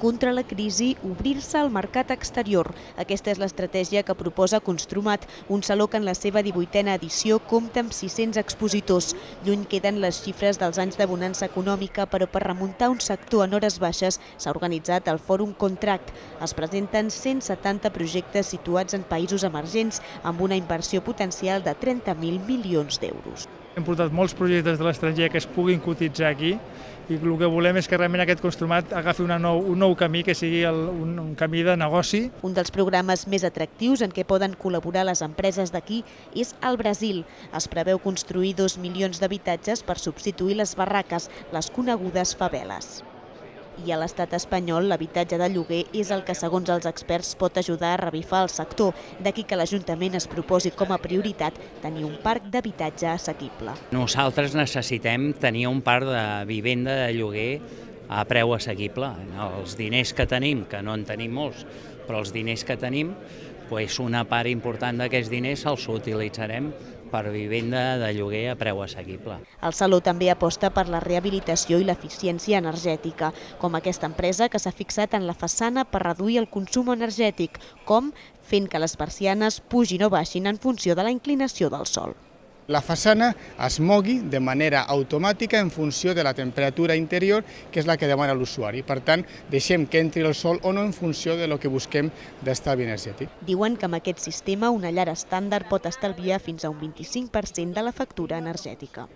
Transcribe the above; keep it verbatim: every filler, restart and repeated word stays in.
contra la crisi, obrir-se al mercat exterior. Aquesta és l'estratègia que proposa Construmat, un saló que en la seva divuitena edició compta amb sis-cents expositors. Lluny queden les xifres dels anys de bonança econòmica, però per remuntar un sector en hores baixes s'ha organitzat el Fòrum Contract. Es presenten cent setanta projectes situats en països emergents amb una inversió potencial de trenta mil milions d'euros. Hem portat molts projectes de l'estranger que es puguin cotitzar aquí i el que volem és que realment aquest Construmat agafi una nou, un nou camí, que sigui el, un, un camí de negoci. Un dels programes més atractius en què poden col·laborar les empreses d'aquí és el Brasil. Es preveu construir dos milions d'habitatges per substituir les barraques, les conegudes faveles. I a l'estat espanyol, l'habitatge de lloguer és el que, segons els experts, pot ajudar a revifar el sector. D'aquí que l'Ajuntament es proposi com a prioritat tenir un parc d'habitatge assequible. Nosaltres necessitem tenir un parc de vivenda de lloguer a preu assequible. Els diners que tenim, que no en tenim molts, però els diners que tenim, doncs una part important d'aquests diners els utilitzarem per vivenda de lloguer a preu assequible. El Saló també aposta per la rehabilitació i l'eficiència energètica, com aquesta empresa que s'ha fixat en la façana per reduir el consum energètic, com fent que les persianes pugin o baixin en funció de la inclinació del sol. La façana es mogui de manera automàtica en funció de la temperatura interior, que és la que demana l'usuari. Per tant, deixem que entri el sol o no en funció de lo que busquem d'estalvi energètic. Diuen que amb aquest sistema una llar estàndard pot estalviar fins a un vint-i-cinc per cent de la factura energètica.